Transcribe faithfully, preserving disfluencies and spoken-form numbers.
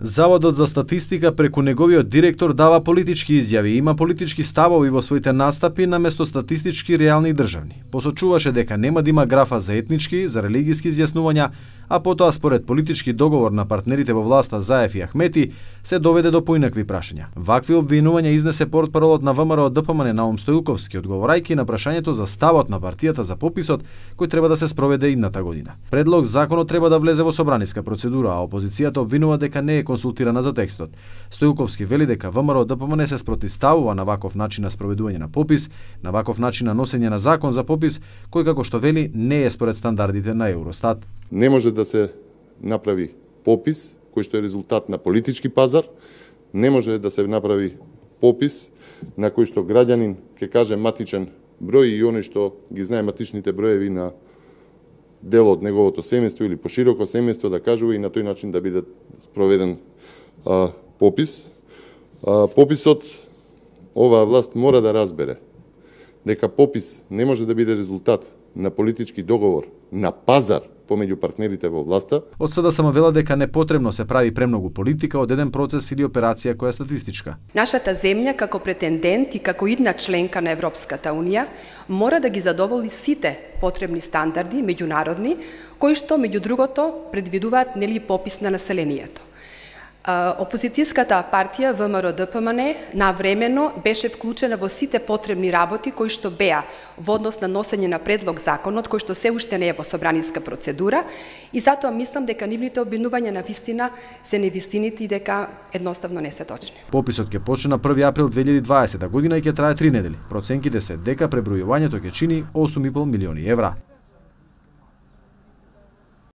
Заводот за статистика преку неговиот директор дава политички изјави и има политички ставови во своите настапи наместо статистички реални и државни. Посочуваше дека нема да има графа за етнички, за религиски изјаснувања, а потоа според политички договор на партнерите во власта Заев и Ахмети се доведе до поинакви прашања. Вакви обвинувања изнесе портпаролот на ВМРО ДПМН Наум Стоилковски, одговорајќи на прашањето за ставот на партијата за пописот кој треба да се спроведе идната година. Предлог законот треба да влезе во собраниска процедура, а опозицијата обвинува дека не е консултирана за текстот. Стоилковски вели дека ВМРО ДПМН се спротивставува на ваков начин на спроведување на попис, на ваков начин на носење на закон за попис, кој како што вели не е според стандардите на Евростат. Не може да се направи попис кој што е резултат на политички пазар, не може да се направи попис на кој што граѓанин ќе каже матичен број и оној што ги знае матичните броеви на дел од неговото семејство или пошироко семејство да кажува и на тој начин да биде спроведен а, попис. А, пописот, оваа власт мора да разбере дека попис не може да биде резултат на политички договор, на пазар помеѓу партнерите во власта. Од СДСМ вела дека не потребно се прави премногу политика од еден процес или операција која е статистичка. Нашата земја како претендент и како идна членка на Европската унија мора да ги задоволи сите потребни стандарди меѓународни кои што меѓу другото предвидуваат нели попис на населението. Опозицијската партија ВМРО ДПМН навремено беше вклучена во сите потребни работи кои што беа во однос на носење на предлог законот кој што се уште не е во собраниска процедура и затоа мислам дека нивните обвинувања на вистина се невистините и дека едноставно не се точни. Пописот ќе почне на први април две илјади и дваесета година и ќе трае три недели. Проценките се дека пребројувањето ќе чини осум и пол милиони евра.